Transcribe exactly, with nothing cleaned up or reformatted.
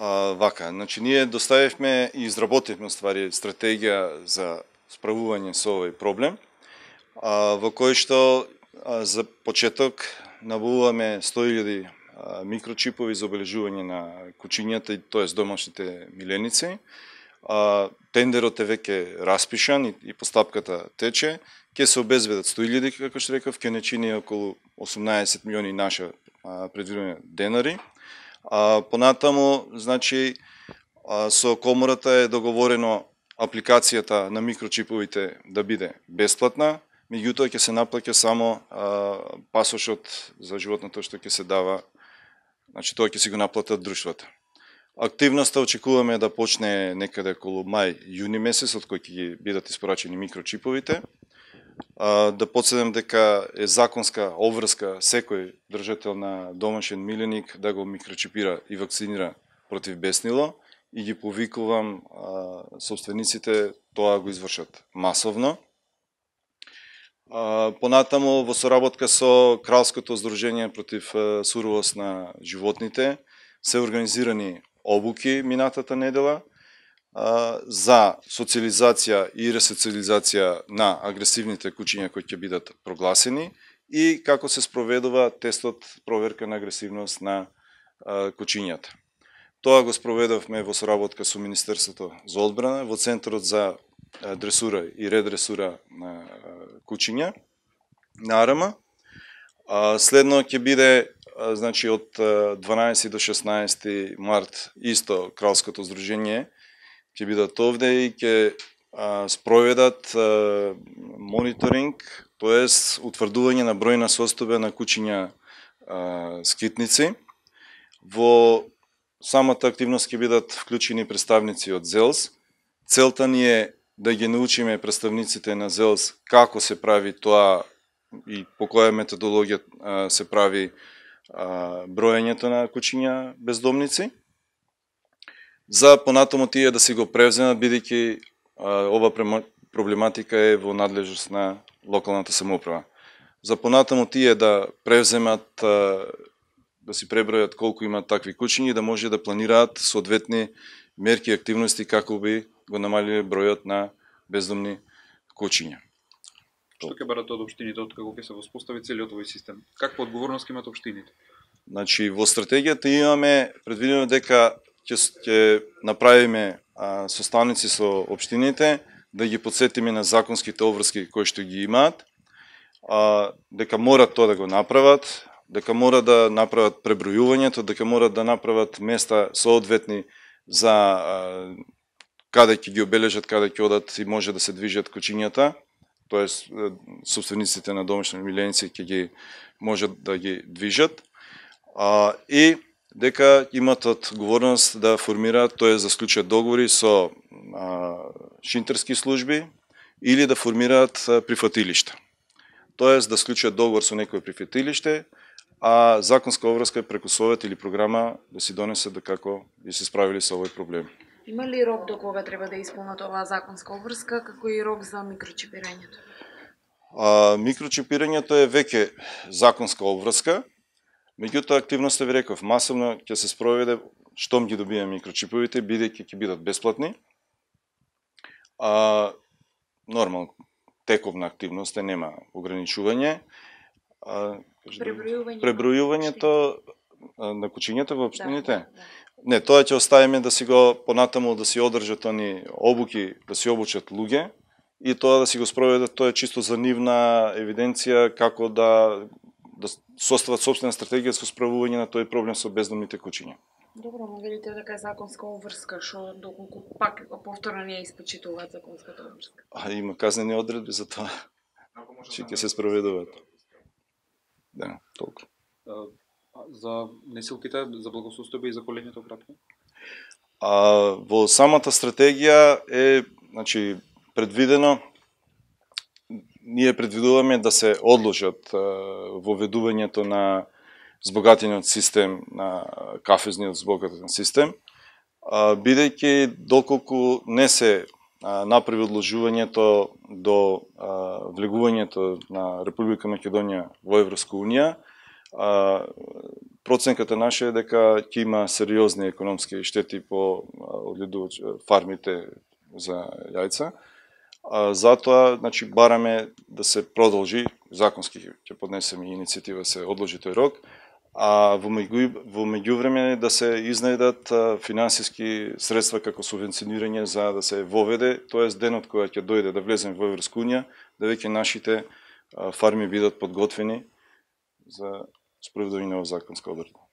А, вака, значи ние доставивме и изработивме ствари стратегија за справување со овој проблем, а, во кој што а, за почеток набавуваме сто илјади микрочипови за обележување на кучињата, тоест домашните миленици. А, тендерот е веќе распишан и, и постапката тече. Ќе се обезбедат сто илјади, како што рекав, ќе не чини околу осумнаесет милиони наша предвидени денари. А, понатаму, значи, а, со комората е договорено апликацијата на микрочиповите да биде бесплатна, меѓутоа ќе се наплаќа само а, пасошот за животното што ќе се дава, значи тоа ќе си го наплатат друштвата. Активноста очекуваме да почне некаде околу мај-јуни месец, од кој ќе бидат испорачени микрочиповите. А, да подседам дека е законска обврска секој држател на домашен миленик да го микрочипира и вакцинира против беснило и ги повикувам а, собствениците тоа го извршат масовно. А, понатаму во соработка со Кралското здружение против а, суровост на животните се организирани обуки минатата недела а, за социализација и ресоциализација на агресивните кучиња кои ќе бидат прогласени и како се спроведува тестот проверка на агресивност на а, кучињата. Тоа го спроведовме во соработка со Министерството за одбрана, во Центарот за дресура и редресура на кучиња на Арама. Следно ќе биде, значи, од дванаесети до шеснаесети март исто Кралското здружение ќе бидат овде и ќе спроведат мониторинг, тоест утврдување на бројна состојба на кучиња скитници. Во самата активност ќе бидат вклучени представници од ЗЕЛС. Целта ни е да ги научиме представниците на ЗЕЛС како се прави тоа и по која методологија се прави броењето на кучиња бездомници. За понатаму тие да си го превземат, бидејќи ова проблематика е во надлежност на локалната самоуправа. За понатаму тие да превземат, да си пребројат колку имаат такви кучиња и да може да планираат соодветни мерки и активности како би го намалиле бројот на бездомни кучиња. Што ќе барат од општините откако ќе се воспостави целиот овој систем? Каква одговорност ќе имат општините? Значи, во стратегијата имаме предвидено дека ќе ќе направиме а, составници со општините, да ги подсетиме на законските обврски кои што ги имаат, а, дека морат тоа да го направат, дека мора да направат пребројувањето, дека мора да направат места соодветни за а, каде ќе ги обележат, каде ќе одат и може да се движат кучињата, тоест собствениците на домашни миленици ќе ги можат да ги движат, а, и дека имат одговорност да формираат, тоест да склучат договори со а, шинтерски служби или да формираат а, прифатилишта. Тоест да склучат договор со некој прифатилиште, а законска обврска преку совет или програма да си донесе да како би се справили со овој проблем. Има ли рок до кога треба да исполнат оваа законска обврска, како и рок за микрочипирањето? А, микрочипирањето е веќе законска обврска, меѓутоа активноста ви реков, масовно ќе се спроведе штом ги добиеме микрочиповите, бидејќи ќе бидат бесплатни. А, нормално, тековна активност е, нема ограничување. А, Пребројување пребројувањето на кучињата во општините? Да, да. Не, тоа ќе оставиме да си го понатаму да си одржат они обуки, да си обучат луѓе и тоа да си го спроведат, тоа е чисто за нивна евиденција како да да состават собствена стратегија со справување на тој проблем со бездомните кучиња. Добро, но велите дека е законска обврска, што доколку пак повторно не испочитуваат законската обврска? А има казнени одредби за тоа, че ќе се спроведуваат. Да, толку. За несилките, за благосостојба и за колењето кратко? А, во самата стратегија е, значи, предвидено, ние предвидуваме да се одложат воведувањето на збогатениот систем, на кафезниот збогатен систем, бидејќи доколку не се направи одложувањето до влегувањето на Република Македонија во Европска унија, А, проценката наша е дека ќе има сериозни економски штети по фармите за јајца. А, затоа, значи, бараме да се продолжи, законски ќе поднесеме иницијатива се одложи тој рок, а во меѓувреме да се изнајдат финансиски средства како субвенционирање за да се воведе, тоест денот кој ќе дојде да влеземе во Европска унија, да веќе нашите фарми бидат подготвени за спроведување на законска одредба.